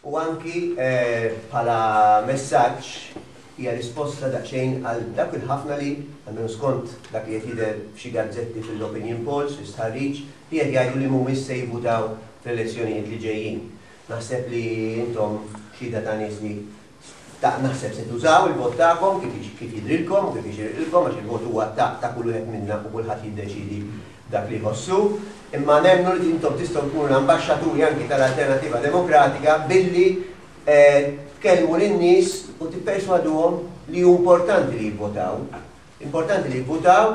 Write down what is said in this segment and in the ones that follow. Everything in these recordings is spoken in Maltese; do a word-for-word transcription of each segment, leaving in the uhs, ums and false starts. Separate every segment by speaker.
Speaker 1: U anki bħala messaġġ hija risposta daqsxejn għal dak il-ħafna li, almenu skont dak li qed jidher f'xi gazzetti fil-opinion polls, fl-istħarriġ, li qed jgħidu li mhumiex se jivvutaw fl-elezzjonijiet li ġejjin. Naħseb li intom xhieda ta' nies li ta' naħseb se tużaw il-vot tagħkom kif kif jidrilkom u kif jixirqilkom, għax il-vot huwa ta' ta' kull wieħed minna u kulħadd jiddeċidi dak li jħossu. Imma nemmnu li intom tistgħu tkunu l-ambaxxaturi anki tal-Alternattiva Demokratika billi tkellmu lin-nies u tipperswaduhom li hu importanti li jivvotaw. Importanti li jivvotaw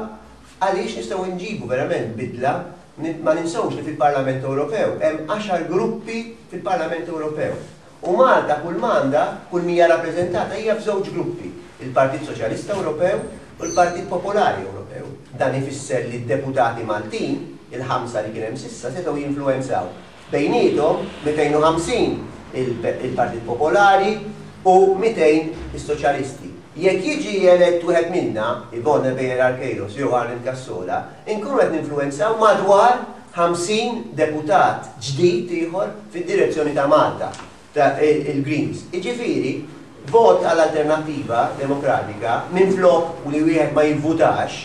Speaker 1: għaliex nistgħu nġibu verament bidla. Ma ninsewx li fil-Parlament Ewropew hemm għaxar gruppi fil-Parlament Ewropew. U Malta kull manda, kull mija rappreżentata hija f'żewġ gruppi, il-Partit Soċjalista Ewropew u l-Partit Popolari Ewropew. Dan ifisser li d-deputati Maltin, il-ħamsa li kien hemm s'issa, setgħu jinfluwenzaw bejniethom mitejn u ħamsin il-Partit Popolari u mitejn is-Soċjalisti. Jekk jiġi elett wieħed minna, Yvonne Ebejer Queiroz jew Arnold Cassola, inkunu qed ninfluwenzaw madwar ħamsin deputat ġdid ieħor fid-direzzjoni ta' Malta, ta' il-Greens. Jiġifieri, vot għall-Alternattiva Demokratika minflok u li wieħed ma jivvutax,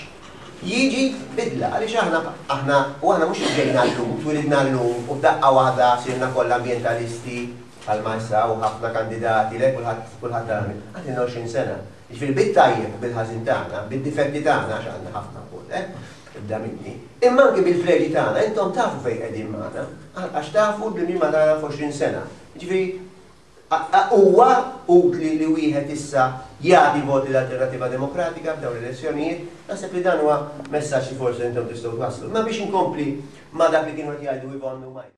Speaker 1: jiġi bidla, għaliex aħna, aħna, u aħna mhux ġejna llum, twilidna llum u f'daqqa waħda sirna kollha ambjentalisti bħalma issa u ħafna kandidati, le kulħadd kulħadd tagħmel. Għandna għoxrin sena. Jiġifieri bit-tajjeb u bil-ħażin tagħna, bid-difetti tagħna għax għandna ħafna wkoll, eh? Ibda minni. Imma anke bil-preġi tagħna, intom tafu fejn qegħdin magħna, għax tafu bil-min ma tagħna f'għoxrin sena. Jiġifieri huwa utli li wieħed issa jagħti voti l-Alternattiva Demokratika f'dawn l-elezzjonijiet, naħseb li dan huwa messaġġ li forsi intom tistgħu twasslu. Ma biex inkompli ma dak li kienu qed jgħidu Yvonne u Mike.